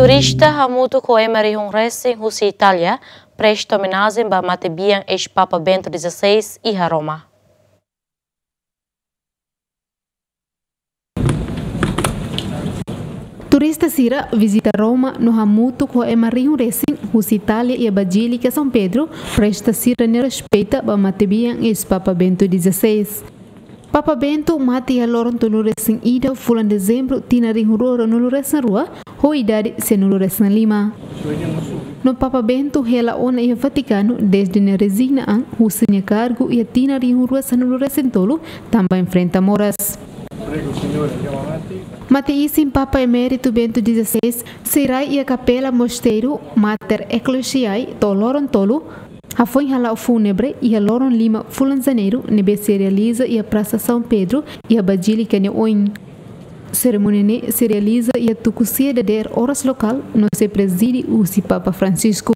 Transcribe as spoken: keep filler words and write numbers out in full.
Turista hamutuk ho ema rihun resin husi Itália presta omenajen ba matebian eis-Papa Bento XVI iha Roma. Turista sira vizita Roma no hamutuk ho ema rihun resin husi Itália iha Bazílika São Pedro presta sira-nia respeita ba matebian eis-Papa Bento XVI. Papa Bento mate iha loron tolu resin ida fulan Dezembru tinan rihun rua ruanulu resin rua ho idade sianulu resin lima. No Papa Bento hela ona iha Vatikanu dezde nia rezigna an husi nia kargu iha tinan rihun rua sanulu resin tolu tanba enfrenta moras. Mate-isin Papa Eméritu Bento XVI sei rai iha kapela mosteiru Mater Ecclesiae to'o loron tolu, hafoin hala'o fúnebre iha loron lima fulan Janeiru ne'ebé sei realiza iha Prasa São Pedro iha Bazílika nia oin. Serimónia ne'e sei realiza iha tuku sia dadeer oras lokál no sei prezide husi Papa Francisco.